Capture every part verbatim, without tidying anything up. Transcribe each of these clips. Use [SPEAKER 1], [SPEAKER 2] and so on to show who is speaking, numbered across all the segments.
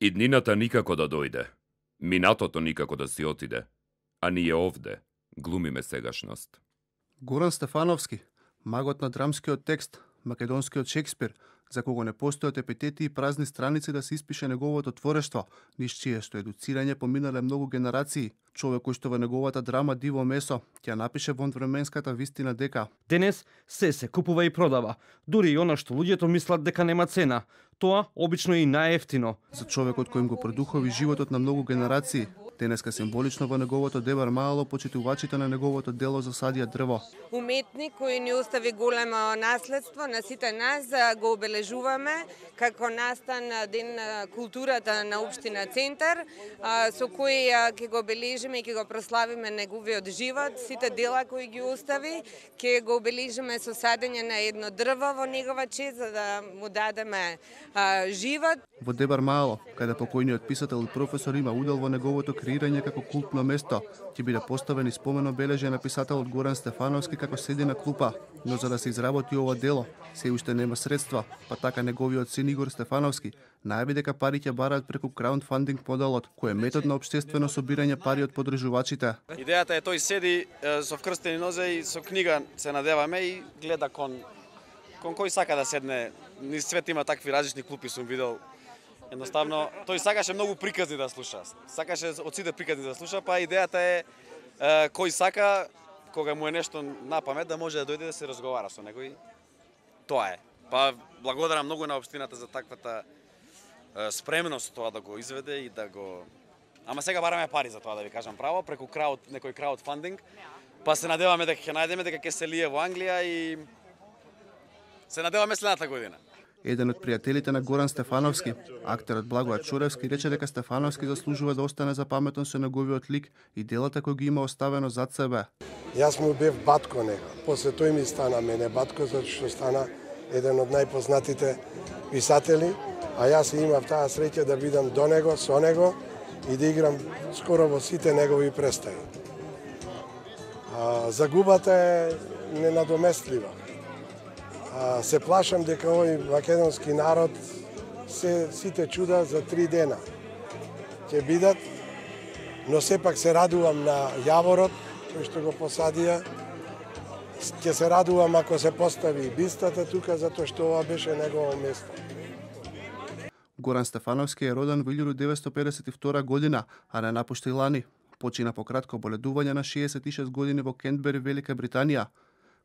[SPEAKER 1] Иднината никако да дојде, минатото никако да си отиде, а ние овде глумиме сегашност.
[SPEAKER 2] Горан Стефановски, магот на драмскиот текст, македонскиот Шекспир, за кого не постојат епитети и празни страници да се испише неговото творештво, низ чиесто едуцирање поминале многу генерации. Човек кој што во неговата драма Диво месо ќе напише во временската вистина дека
[SPEAKER 3] денес се се купува и продава, дури и она што луѓето мислат дека нема цена. Тоа обично е и најефтино.
[SPEAKER 2] За човекот кој им го продухови животот на многу генерации, денеска символично во неговото Дебар Маало почитувачите на неговото дело засадија дрво.
[SPEAKER 4] Уметник кој ни остави големо наследство на сите нас, го обележуваме како настан ден културата на општина Центар, со кој ќе го обележиме и ќе го прославиме неговиот живот, сите дела кои ги остави, ќе го обележиме со садење на едно дрво во негова чест за да му дадеме а, живот.
[SPEAKER 2] Во Дебар Маало, каде покојниот писател и професор има удел во неговото креирање како култно место, ќе биде поставен и спомен обележje на писателот Горан Стефановски како седи на клупа, но за да се изработи ова дело, се уште нема средства, па така неговиот син Игор Стефановски најави дека пари ќе бараат преку краудфандинг моделот, кој е метод на општествено собирање пари од подржувачите.
[SPEAKER 5] Идејата е тој седи е, со вкрстени нозе и со книга се надеваме и гледа кон кон кој сака да седне. Низ свет има такви различни клупи, сум видел. Едноставно, тој сакаше многу приказни да слуша. Сакаше од сите приказни да слуша, па идејата е, е кој сака, кога му е нешто на памет, да може да дојде да се разговара со него и тоа е. Па благодарам многу на општината за таквата е, спремност тоа да го изведе и да го... Ама сега бараме пари за тоа, да ви кажам право, преку крауд, некој краудфандинг, па се надеваме дека ќе најдеме, дека ќе се лие во Англија и се надеваме следната година.
[SPEAKER 2] Еден од пријателите на Горан Стефановски, актерот Благојат Чуревски, рече дека Стефановски заслужува да остане запаметен со неговиот лик и делата кои ги има оставено зад себе.
[SPEAKER 6] Јас му бев батко него. После тој ми стана мене батко, затоа што стана еден од најпознатите писатели, а јас имав таа среќа да бидам до него, со него и да играм скоро во сите негови представи. А, загубата е ненадоместлива. А, се плашам дека овој македонски народ се сите чуда за три дена ќе бидат, но сепак се радувам на јаворот кој што го посадија. Ќе се радувам ако се постави бистата тука, затоа што ова беше негово место.
[SPEAKER 2] Горан Стефановски е роден во илјадум деветстотини педесет и втора година, а не напушти лани. Почина по кратко боледување на шеесет и шест години во Кентбери, Велика Британија.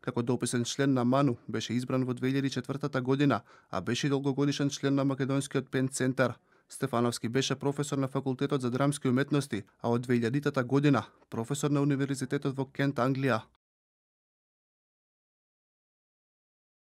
[SPEAKER 2] Како дописен член на МАНУ, беше избран во две илјади и четвртата година, а беше долгогодишен член на македонскиот Пен Центар. Стефановски беше професор на Факултетот за драмски уметности, а од две илјадитата година професор на Универзитетот во Кент, Англија.